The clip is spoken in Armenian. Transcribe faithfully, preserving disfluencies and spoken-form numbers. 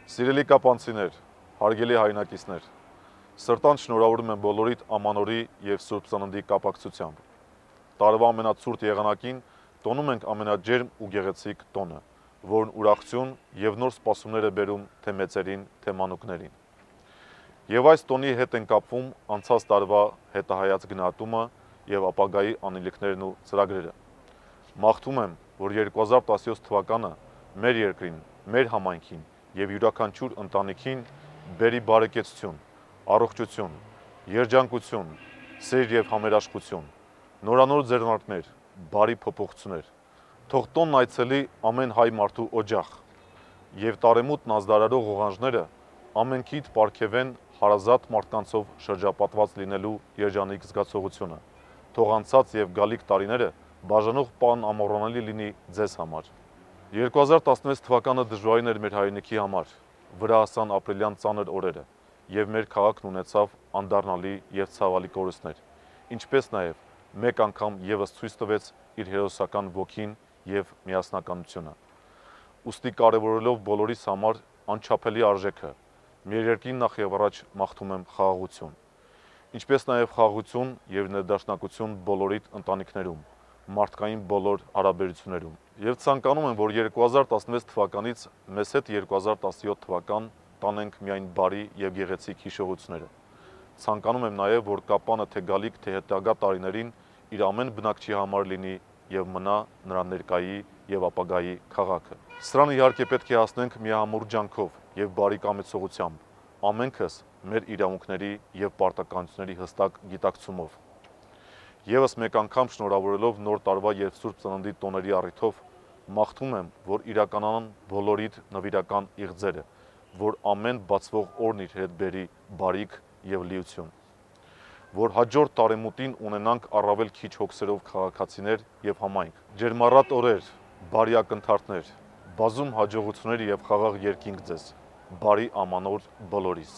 Սիրելի կապանցիներ, հարգելի հայրենակիցներ, սրտանց շնորհավորում եմ բոլորիդ ամանորի եւ Սուրբ Ծննդի կապակցությամբ։ Տարվա ամենացուրտ եղանակին տոնում ենք ամենաջերմ ու գեղեցիկ տոնը, որն ուրախություն եւ նոր սպասումներ է բերում թե մեծերին, թե մանուկներին։ Եվ այս տոնի հետ են կապվում անցած տարվա հետահայաց գնահատումը եւ ապագայի անելիքներն ու ծրագրերը։ Մաղթում եմ, որ երկու հազար տասնյոթ թվականը մեր երկրին, մեր համայնքին եւ յուրաքանչյուր ընտանիքին բերի բարեկեցություն, առողջություն, երջանկություն, սեր եւ համերաշխություն, նորանոր ձեռնարկներ, բարի փոփոխություններ։ Թող տոնն այցելի ամեն հայ մարդու օջախ եւ տարեմուտ նազդարարող ողանջները ամենքիդ պարգևեն հարազատ մարդկանցով շրջապատված լինելու երջանիկ զգացողությունը։ Թող անցած եւ գալիք տարիները բաժանող պան ամոռանալի լինի ձեզ համար։ երկու հազար տասնվեց թվականը դժվարին էր մեր հայրենիքի համար, վրա հասան ապրիլյան ծանր օրերը եւ մեր քաղաքն ունեցավ անդառնալի եւ ցավալի կորուստներ, ինչպես նաեւ մեկ անգամ եւս ցույց տվեց իր հերոսական ոգին եւ միասնականությունը։ Ուստի կարևորելով բոլորիս համար անչափելի արժեքը, մեր երկրին նախ եւ առաջ մաղթում եմ խաղաղություն, ինչպես նաեւ խաղաղություն եւ ներդաշնակություն բոլորիդ ընտանիքներում, մարդկային բոլոր հարաբերություններում։ Եվ ցանկանում եմ, որ երկու հազար տասնվեց թվականից մեզ հետ երկու հազար տասնյոթ թվական տանենք միայն բարի եւ գեղեցիկ հիշողությունները։ Ցանկանում եմ նաեւ, որ կապանը թե գալիք, թե հետագա տարիներին իր ամեն բնակչի համար լինի եւ մնա նրա ներկայի եւ ապագայի քաղաքը։ Սրան իհարկե պետք է հասնենք միահամուռ ջանքով եւ բարի կամեցողությամբ, ամենքս մեր իրավունքների եւ պարտականությունների հստակ գիտակցումով։ Եվս մեկ անգամ շնորհավորելով նոր տարվա եւ Սուրբ Ծննդի տոների առիթով մաղթում եմ, որ իրականանան բոլորիդ նվիրական իղձերը, որ ամեն բացվող օրն իր հետ բերի բարիք եւ լիություն, որ հաջորդ տարեմուտին ունենանք առավել քիչ հոգսերով քաղաքացիներ եւ համայնք, ջերմառատ օրեր, բարի ակնթարթներ, բազում հաջողություններ եւ խաղաղ երկինք ձեզ, բարի ամանոր բոլորիս։